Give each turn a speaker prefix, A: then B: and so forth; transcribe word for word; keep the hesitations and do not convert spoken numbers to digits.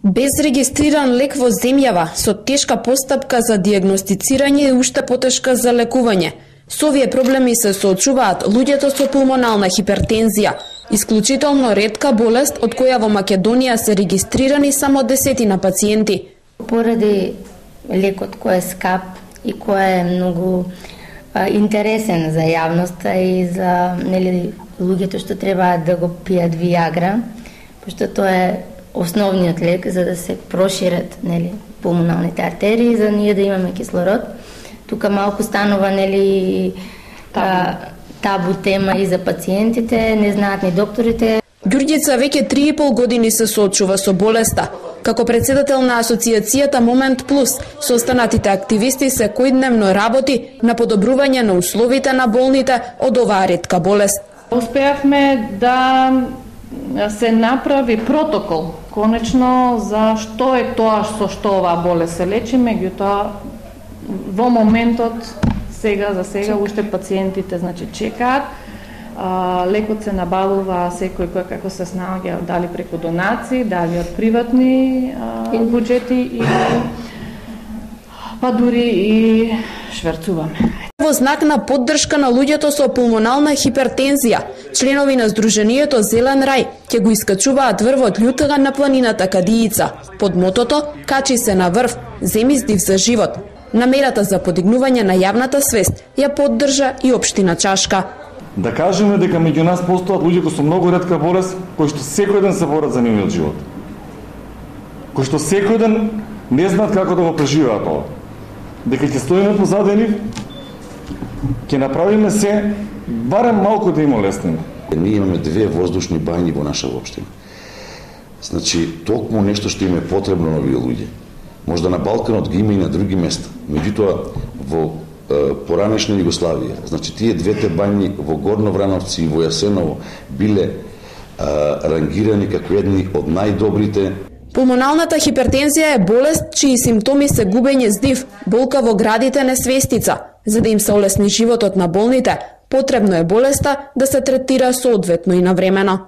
A: Без регистриран лек во земјава, со тешка постапка за дијагностицирање и уште потешка за лекување. Со овие проблеми се соочуваат луѓето со пулмонална хипертензија, исклучително ретка болест од која во Македонија се регистрирани само десетина пациенти.
B: Поради лекот кој е скап и кој е многу а, интересен за јавноста и за нели луѓето што треба да го пијат Виагра, пошто тоа е основниот лек за да се прошират нели пулмоналните артерии, за ние да имаме кислород. Тука малку станува нели табу. табу тема и за пациентите, не знаат ни докторите.
A: Ѓурѓица веќе три и пол години се соочува со болеста. Како председател на асоциацијата Момент Плюс, со останатите активисти секојдневно работи на подобрување на условите на болните од оваа ретка болест.
C: Успеавме да се направи протокол конечно за што е тоа со што оваа болест се лечи, меѓутоа во моментот сега за сега уште пациентите значи чекаат. А, лекот се набавува секој кој како се снаоѓа, дали преку донации, дали од приватни а, буџети и па дури и шверцуваме.
A: Во знак на поддршка на луѓето со пулмонална хипертензија, членови на Сдруженијето Зелен рај ќе го искачуваат врвот Љутга на планината Кадијица, под мотото "Качи се на врв, земи здив за живот". Намерата за подигнување на јавната свест ја поддржа и општина Чашка.
D: Да кажеме дека меѓу нас постојат луѓе кои со многу ретка болест, кои што секој ден се борат за нивниот живот. Кои што секој ден не знаат како да го преживеат тоа. Дека ќе стоиме позади нив, ќе направиме се барем малку да им олеснеме.
E: Ние имаме две воздушни бањи во наша општина. Значи, токму нешто што им е потребно на овие луѓе. Можда на Балканот ги има и на други места. Меѓутоа, во е, поранешна Југославија, значи тие двете бањи во Горно Врановци и во Јасеново биле е, рангирани како едни од најдобрите.
A: Пулмоналната хипертензија е болест чии симптоми се губење здив, болка во градите, несвестица. За да им се олесни животот на болните, потребно е болеста да се третира соодветно и навремено.